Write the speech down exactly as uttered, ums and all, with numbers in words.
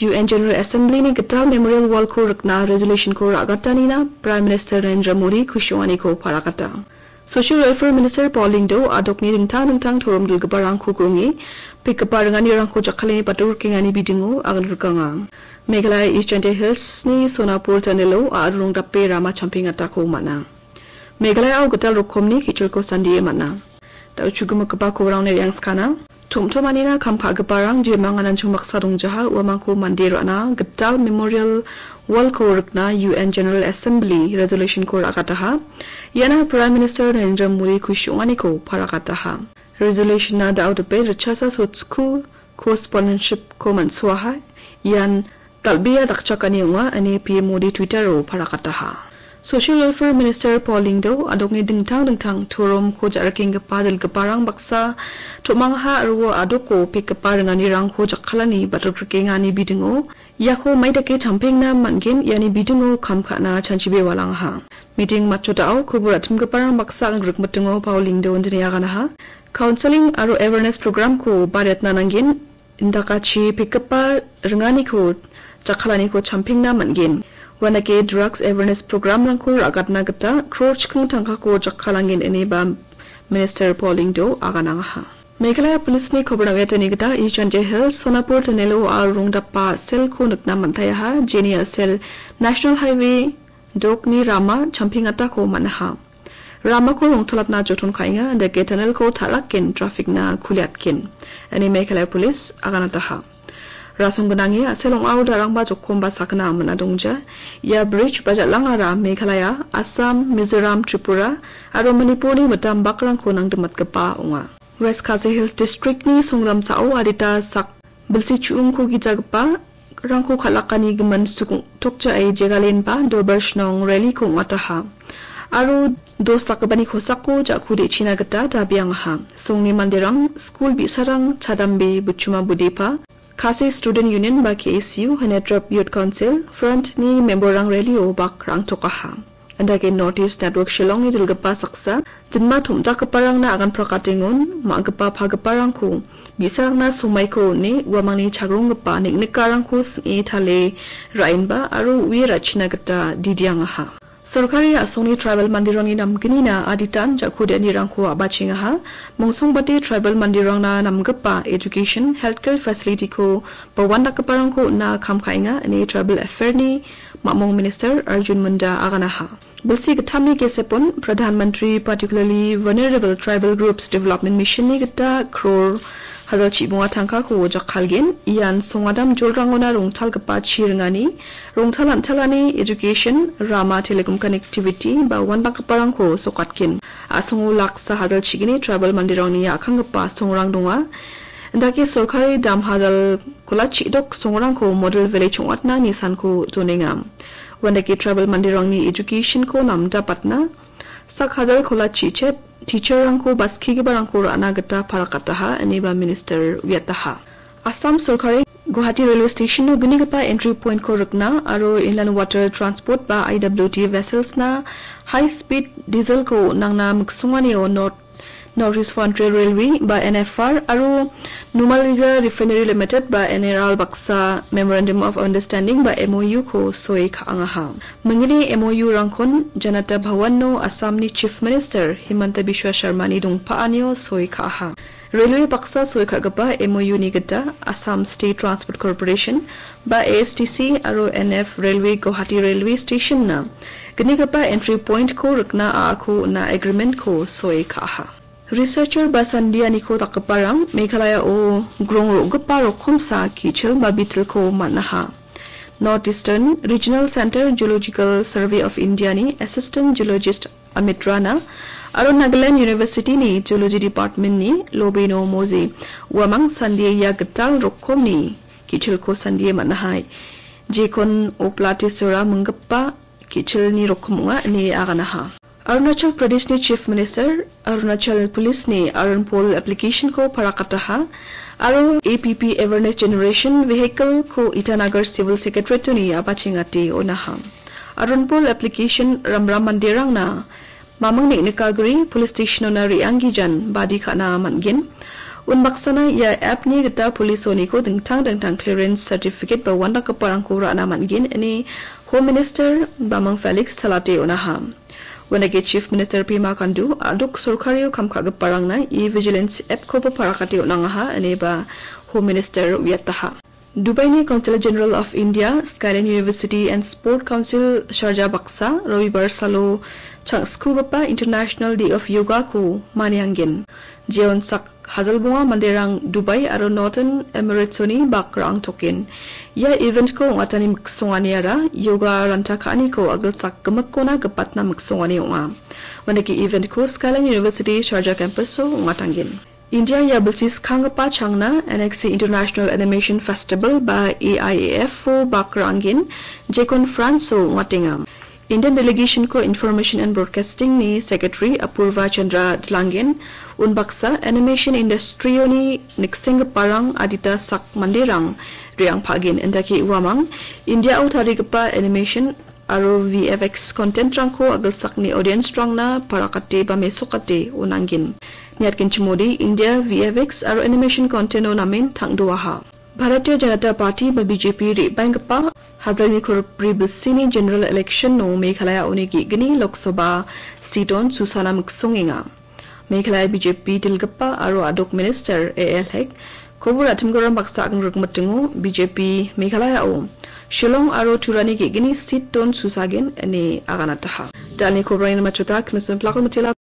U N General Assembly-ni gital Memorial Wall-ko rikna resolution-ko ra·gatanina Prime Minister Narendra Modi kusi ong·aniko paragata. Social Welfare Minister Paul Lyngdoh a·dokni dingtang dingtang torom dilgiparangko grunge, pekgipa ringanirangko jakkalni batur rikengani bidingo agan rikanga. Meghalaya East Jaintia Hills-ni Sonapur Tunnel-o a·rong dape rama champeng atako man·a. Meghalayao gital rokomni ki·cholko sandie man·a. Da·o chugimikgipa kobrangni re·angskana. Tom·tomanina kam ka·giparang jemang ananching baksa dongjaha, uamangko mande ra·na gital Memorial Wall-ko rikna U N General Assembly resolution-ko ra·gataha. Iana Prime Minister Narendra Modi kusi ong·aniko paragataha. Resolution-na da·o dipet ritchasa sotsku co-sponsorship-ko man·soaha. Ian dal·bea dakchakani ong·a, ine P M Modi Twitter-o paragataha. Social Welfare Minister Paul Lyngdoh a·dokni dingtang dingtang toromko ja·rikenggipa dilgiparang baksa tom·angha aro a·doko pekgipa ringanirangko jakkalani batur rikengani bidingo iako maidake champengna man·gen, iani bidingo kam ka·na chanchibe walangaha. Meeting matchotao kobor ra·chimgiparang baksa grikmitingo Paul Lyngdoh indine aganaha. Counselling aro awareness program-ko bariatna nanggen, indakachi pekgipa ringaniko jakkalaniko champengna man·gen. Uandake drugs awareness program-rangko ra·gatna gita crore chikking tangkako jakkalanggen ine ba Minister Paul Lyngdoh aganangaha. Meghalaya Police-ni kobrang uiatani gita East Jaintia Hills Sonapur Tunnel-o a·rong dapa selko nikna man·taiaha, jeni a·sel National Highway dokni rama champeng atako man·aha. Ramako rongtalatna joton ka·enga, indake tunnel-ko ta·rakgen traffic-na kuliatgen, ine Meghalaya Police aganataha. Rasong gnange a·sel ong·ao darangba jokkomba sakna man·a dongja. Ia bridge ba jal·angara Meghalaya, Assam, Mizoram, Tripura aro Manipurni mitam bakrangko nangdimatgipa ong·a. West Khasi Hills District-ni songdamsao adita sak bilsi chu·ungko gijagipa rangko kal·akani gimin sukong tokjae Jegalenba Dorbar Shnong rally-ko ong·ataha. Aro dos dakgipani kosako ja·ku de·china gita dabiangaha. Songni manderang, skul bi·sarang, chadambe, buchuma budepa, Khasi Student Union ba K S U, Hanetrap Youth Council, Front-ni member-rang rally-o bak rangtokaha. Indake North East Network Shillong-ni dilgipa saksa, jinma tom·dakgiparangna agan prakatengon, ma·gipa pagiparangko, bi·sarangna somaiko on·e, uamangni chagronggipa neng·nikarangko sing·e tale ra·enba aro ue ra·china gita didiangaha. Sorkari a·songni tribal manderangni namgnina aditan ja·ku de·anirangko a·bachengaha. Mongsogbate tribal manderangna namgipa education, healthcare facility-ko ba uandakgiparangko on·na kam ka·enga, ine Tribal Affair-ni mamung Minister Arjun Munda aganaha. Bilsi gittamni gesepon Pradhan Mantri Particularly Vulnerable Tribal Groups Development Mission-ni gita crore hajalchi bonga tangkako jakkalgen. Ian songadam jolrangona rongtalgipa chi ringani, rongtal an·talani, education, rama, telecom connectivity ba uandakgiparangko sokatgen. A·songo laksa hajalchigni tribal manderangni a·kanggipa songrang donga. Indake sorkari dam hajal kolachi dok songrangko model village ong·atna nisanko donenga. Uandake tribal manderangni education-ko namdapatna sak hajal kolachi chet teacher-rangko ba skigiparangko ra·na gita parakataha, ineba minister uiataha. Assam sorkari Guwahati Railway Station-o gnigipa entry point-ko rikna aro Inland Water Transport ba I W T vessels-na high speed diesel-ko nangna miksonganio North North East Frontier Railway ba N F R aro Numaligarh Refinery Limited ba N R L baksa Memorandum of Understanding ba M O U-ko soi ka·angaha. Mingni M O U-rangkon Janata Bhawan-o Assamni Chief Minister Himanta Biswa Sharmani dongpa·anio soi ka·aha. Railway baksa soi ka·gipa M O U-ni gita Assam State Transport Corporation ba A S T C aro N F Railway Guwahati Railway Station-na gnigipa entry point-ko rikna a·ako on·a agreement-ko soi ka·aha. Researcher ba sandianiko dakgiparang Meghalaya-o grong ro·gipa rokomsa ki·chil ba bitilko man·aha. North Eastern Regional Center Geological Survey of India-ni Assistant Geologist Amit Rana aro Nagaland University-ni Geology Department-ni Lobino Moji uamang sandie ia gital rokomni ki·chilko sandie man·aha. Jekon Oplatisora minggipa ki·chilni rokom ong·a ine aganaha. Arunachal Pradeshni Chief Minister, Arunachal Police-ni Arunpol application-ko parakataha aro A P P Awareness Generation Vehicle-ko Itanagar Civil Secretariat-oni a·bachengate on·aha. Arunpol application ramram manderangna maming neng·nikagri police station-ona re·anggijan badi ka·na man·gen. Unbaksana ia app-ni gita police-oniko dingtang dingtang clearance certificate ba uandakgiparangko ra·na man·gen ine Home Minister Bamang Felix Talate on·aha. Uandake Chief Minister Pema Khandu a·dok sorkario kam ka·giparangna e-vigilance app-koba parakate on·angaha ine ba Home Minister uiataha. Dubaini Consul General of India, Skyline University and Sport Council Sharjah baksa Robibar salo changskuggipa International Day of Yoga-ko manianggen. Jeon sak hajalbonga manderang Dubai aro Northern Emirates-oni bak ra·angtoken. Ia event-ko ong·atani miksonganiara yoga ranta ka·aniko agilsak gimikkona gipatna miksongani ong·a. Uandake event-ko Skyline University Sharjah campus-o ong·atanggen. India ia bilsi skanggipa changna N X C International Animation Festival ba A I A F-o bak ra·anggen, jekon France-o ong·atenga. Indian delegation-ko Information and Broadcasting-ni Secretary Apurva Chandra Dlanggen, unbaksa animation industry-oni niksenggiparang adita sak manderang re·angpagen, indake uamang India-o tarigipa animation aro V F X content-rangko agilsakni audience-rangna parakate ba mesokate on·anggen. Niatgenchimode India V F X aro animation content-o namen tangdoaha. Bharatiya Janata Party ba B J P re·baenggipa hajalni kolbri bilsini general election-o Meghalaya-oni ge·gni Lok Sabha seat-on susana miksongenga. Meghalaya B J P dilgipa aro a·dok minister A L Hek, kobor a·timgiparang baksa agangrikmitingo B J P Meghalaya-o Shillong aro Turani ge·gni seat-on susagen ine aganataha. Dalni koborangni matchota Knison Plakon Matila.